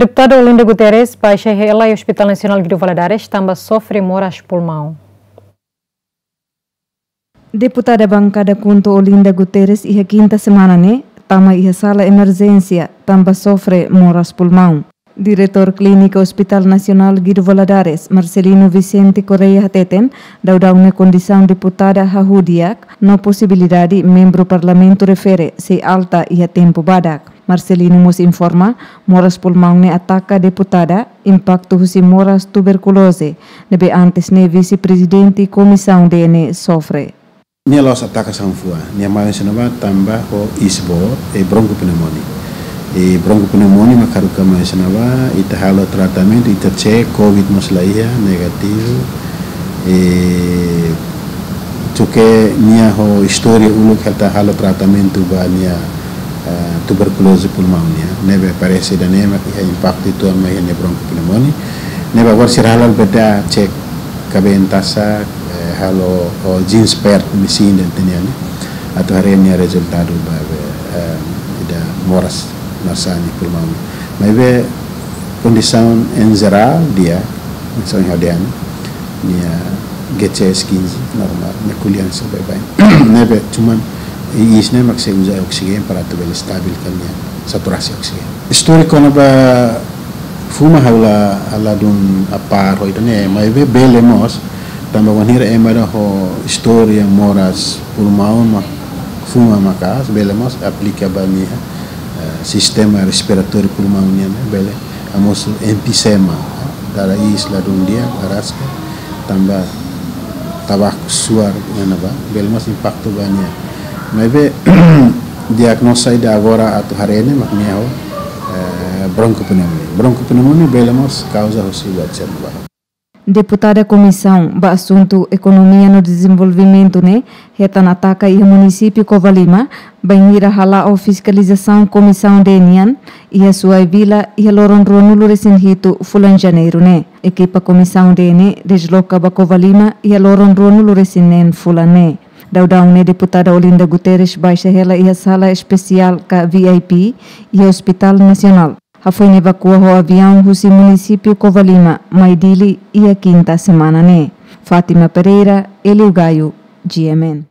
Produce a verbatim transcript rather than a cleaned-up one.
Deputada Olinda Guterres baixa hela iha Hospital Nasionál Guido Valadares tanba sofre moras pulmaun. Deputada bankada KHUNTO Olinda Guterres iha kinta semana ne'e tama iha sala emerjénsia tanba sofre moras pulmaun. Diretór Klínika Hospital Nasionál Guido Valadares, Marcelino Vicente Correia hateten, daudaun ne'e kondisaun deputada hahú di'ak, no posibilidade membru Parlamentu refere sei alta iha tempu badak. Marcelino mós informa, moras pulmaun ne'e ataka deputada, impaktu husi moras tuberkuloze, ne'ebé antes ne'e vise-prezidente komisaun D N sofre. Nia la'ós ataka sanfua, nia mai husi ne'ebá tanba ho isbo, e bronkopneumonia. E bronkopneumonia mak haruka mai husi ne'ebá, ita halo tratamentu, ita cek, covid mós la iha, negativu. E tuir nia ho istória uluk ita halo tratamentu ba nia, eh, tuberkuloze pulmaun nian. Ne'ebé parese ida-ne'e mak iha impaktu uitoan mai iha nia bronkopneumonia. Ne'ebé agora sira halo beda cek kabeen tasak, eh, halo ho Genspert machine ida-ne'e nian, ne'e. Atu haree nia rezultadu ba be, eh, ida moras nasani pulmaun. Maibé kondisaun em geral di'ak, kondisaun hadian, nia G C S kinze, normál, nia ko'alia hanesan baibain. Ne'ebé cuman iis ne'e mak sei uza oksijéniu para atu bele stabilkan nia saturasaun oksijéniu. Istóriku kona-ba fuma ha'u la, la dún apár ho ida-ne'e, maibé bele mós, tanba wainhira ema ida ho istória moras pulmaun mak fuma maka'as, bele mós aplika ba nia, eh, sistema respiratóriu pulmaun nian, bele hamosu enfizema, dada iis la dún di'ak, araska, tanba tabaku, suar, iha ne'ebá, bele mós impaktu ba nia. Maibé diagnóstiku ida agora atu haree ne'e mak nia ho, eh, bronkopneumonia. Bronkopneumonia bele mós kauza husi buat sira ne'ebá. Deputada Komisaun ba Asuntu Ekonomia no Dezenvolvimentu ne'e hetan ataka iha munisípiu Covalima, bainhira hala'o fiskalizasaun komisaun D N nian iha Suai Vila iha loron ruanulu-resin-hitu fulan Janeiru ne'e. Ekipa komisaun D N desloka ba Covalima iha loron ruanulu-resin-neen fulan ne'e. Daudaun ne'e deputada Olinda Guterres baixa hela iha sala espesiál ka V I P iha Hospital Nasionál. Hafoin evakua ho aviaun husi munisípiu Covalima mai Dili iha kinta semana ne'e. Fátima Pereira, Elio Gaio, G M N.